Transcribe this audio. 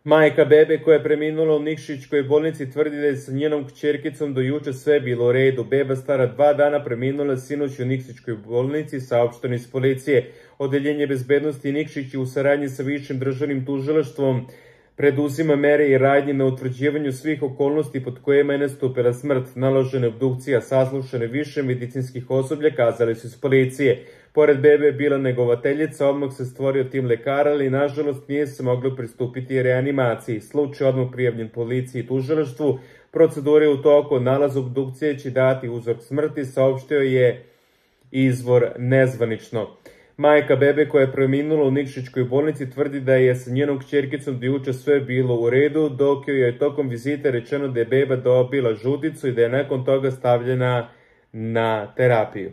Majka bebe koja je preminula u Nikšićkoj bolnici tvrdi da je sa njenom kćerkicom do juče sve bilo u redu. Beba stara 2 dana preminula sinoć u Nikšićkoj bolnici, saopšteno iz policije. Odeljenje bezbednosti Nikšić u saradnji sa Višim državnim tužilaštvom preduzima mere i radnje na utvrđivanju svih okolnosti pod kojima je nastupila smrt. Naložena obdukcija, saslušane više medicinskih osoblja, kazali su iz policije. Pored bebe je bila negovateljica, odmah se stvorio tim lekara, ali nažalost nije se moglo pristupiti reanimaciji. Slučaj odmah prijavljen policiji i tužilaštvu. Procedura je u toku, nalaz obdukcije će dati uzrok smrti, saopštio je izvor nezvanično. Majka bebe koja je preminula u Nikšićkoj bolnici tvrdi da je sa njenom kćerkicom do juče sve bilo u redu, dok joj je tokom vizite rečeno da je beba dobila žuticu i da je nakon toga stavljena na terapiju.